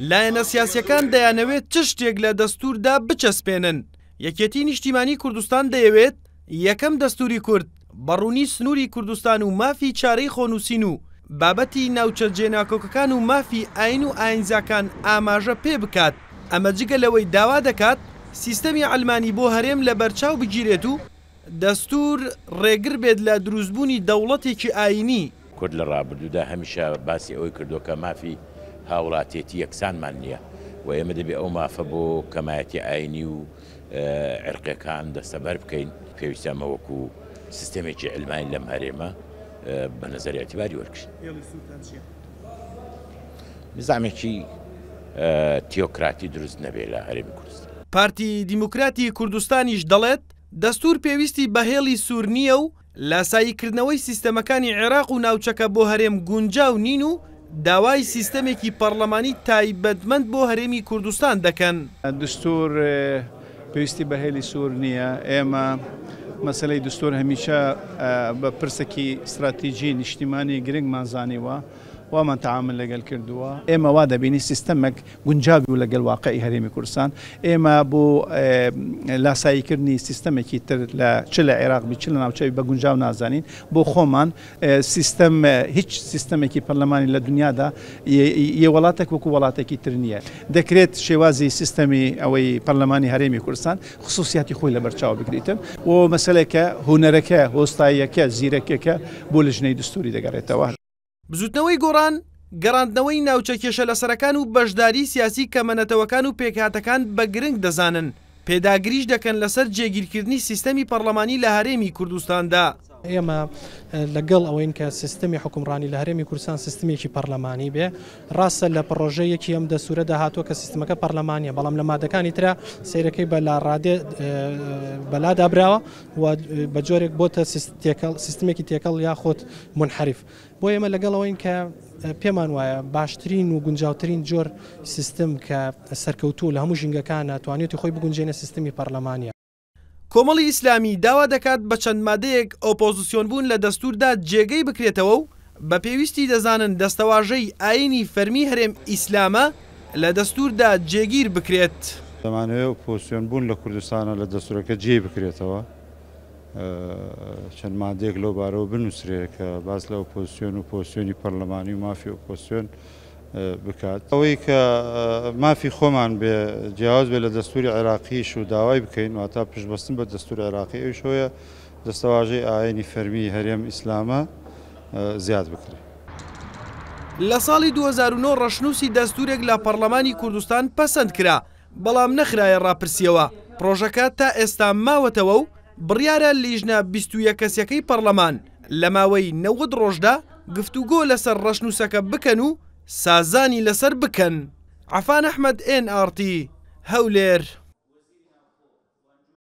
لایەنە سیاسییەکان دەیانەوێت چ شتێک لە دەستووردا بچەسپێنن؟ یەکێتی نیشتیمانی کوردستان دەیەوێت یەکەم دەستووری کورد بە ڕوونی سنووری کوردستان و مافی چارەی خۆنووسین و بابەتی ناوچە جێناکۆکەکان و مافی ئاین و ئاینزاکان ئاماژە پێ بکات، ئەمە جگە لەوەی داوا دەکات سیستەمی عەلمانی بۆ هەرێم لەبەرچاو بگیرێت و دەستوور ڕێگر بێت لە دروستبوونی دەوڵەتێکی ئایینی. کورد لە ڕابردوودا هەمیشە باسی ئەوەی کردووە کە مافی هاوڵاتیەتی یەکسانمان نییە و ئێمە دەبێ ئەو مافە بۆ کەمایەتی ئایینی و عیرقیەکان دەستەبەر بکەین. پێویستە ئەمە وەکو سیستەمێکی عیلمانی لەم هەرێمە بە نەزەر ئیعتیباری وەرگرین. هێڵی سوورتان چییە؟ نیزامێکی تیۆکراتی دروست نەبێ لە هەرێمی کوردستان. پارتی دیموکراتی کوردستانیش دەڵێت، دەستوور پێویستی بە هێڵی سوور نییە و لاساییکردنەوەی سیستەمەکانی عێراق و ناوچەکە بۆ هەرێم گونجاو نین و داوای سیستەمێکی پەڕلەمانی تایبەتمەند بۆ هەرێمی کوردستان دەکەن. دستور پێویستی بە هێلی سوور نییە، ئێمە مەسەلەی دستور هەمیشە بە پرسێکی ستراتیجی نیشتیمانی گرنگمان زانیوە، وامان تەعامل لەگەل کردووە. ئێمە وا دەبینین سیستەمێک گونجاو بوو لەگەل واقعی هەرێمی کوردستان، ئێمە بۆ لاساییکردنی سیستەمێکی تر لە چ لە عێراق بی چ لە ناوچەوی بە گونجاو نازانین بۆ خۆمان سیستەم هیچ سیستەمێکی پەرلەمانی لە دنیادا یە وڵاتێک وەکو وڵاتێکی تر نییە دەکرێت شێوازی سیستەمی ئەوەی پەرلەمانی هەرێمی کوردستان خصوصیاتی خۆی لەبەرچاو بگریتن و مەسەلەکە هونەرەکە هۆستاییەکە زیرەکیەکە بۆ لجنەی دستوری دەگەڕێتەوە. بزوتنەوەی گۆڕان، گەڕاندنەوەی ناوچە کێشە لەسەرەکان و بەشداریی سیاسی کەمە نەتەوەکان و پێکهاتەکان بە گرنگ دەزانن، پێداگریش دەکەن لەسەر جێگیرکردنی سیستەمی پەڕلەمانی لە هەرێمی کوردستاندا. ئێمە لەگەڵ ئەوەین کە سیستمی حوکمڕانی لە هەرێمی کوردستان سیستمێکی پەرلەمانی بێ، ڕاستە لە پڕۆژە یەکی ئەم دەستوورەدا هاتووە کە سیستمەکە پەرلەمانییە، بەڵام لە مادەکانی ترا سەیرەکەی بە لاڕادێ بەلادا براوە و بە جۆرێک بۆتە سیستمێکی تێکەڵ یاخود مونحەریف. بۆ ئێمە لەگەڵ ئەوەین کە پێمان وایە باشترین و گونجاوترین جۆر سیستم کە سەرکەوتوو لە هەموو ژینگەکانە توانیوتی خۆی بگونجێنێ سیستمی پەرلەمانیە. کۆمەڵی ئیسلامی داوا دەکات بە چەند مادەیەک ئۆپۆزسیۆنبوون لە دەستووردا جێگەی بکرێتەوە و بە پێویستی دەزانن دەستەواژەی ئایینی فەرمی هەرێم ئیسلامە لە دەستووردا جێگیر بکرێت. دەمانەوێت ئۆپۆزسیۆنبوون لە کوردستانە لە دەستوورەکە جێی بکرێتەوە. چەند مادەیەک لەو بارەوە بنووسرێ کە باس لە ئۆپۆزسیۆن و پۆزسیۆنی پەرلەمانی و مافی ئۆپۆزسیۆن بکات. ئەوەی کە مافی خۆمان بێ جیاواز بێ لە دەستووری عێراقیش و داوای بکەین، واتا پشتبەستن بە دەستوور عێراقی، ئەویش ئەوەیە دەستەواژەی ئایینی فەرمیی هەرێم ئیسلامە زیاد بکرێ. لە ساڵی 2009 ڕەشنووسی دەستوورێک لە پەڕلەمانی کوردستان پەسەند کرا، بەڵام نەخرایە ڕاپرسییەوە، پڕۆژەکە تا ئێستا ماوەتەوە و بڕیارە لیژنە 21 کەسیەکەی پەڕلەمان لە ماوەی 90 ڕۆژدا گفتوگۆ لەسەر ڕەشنووسەکە بکەن و سازانی لەسەر بکەن. عەفان ئەحمەد، ئێن ئاڕ تی، هەولێر.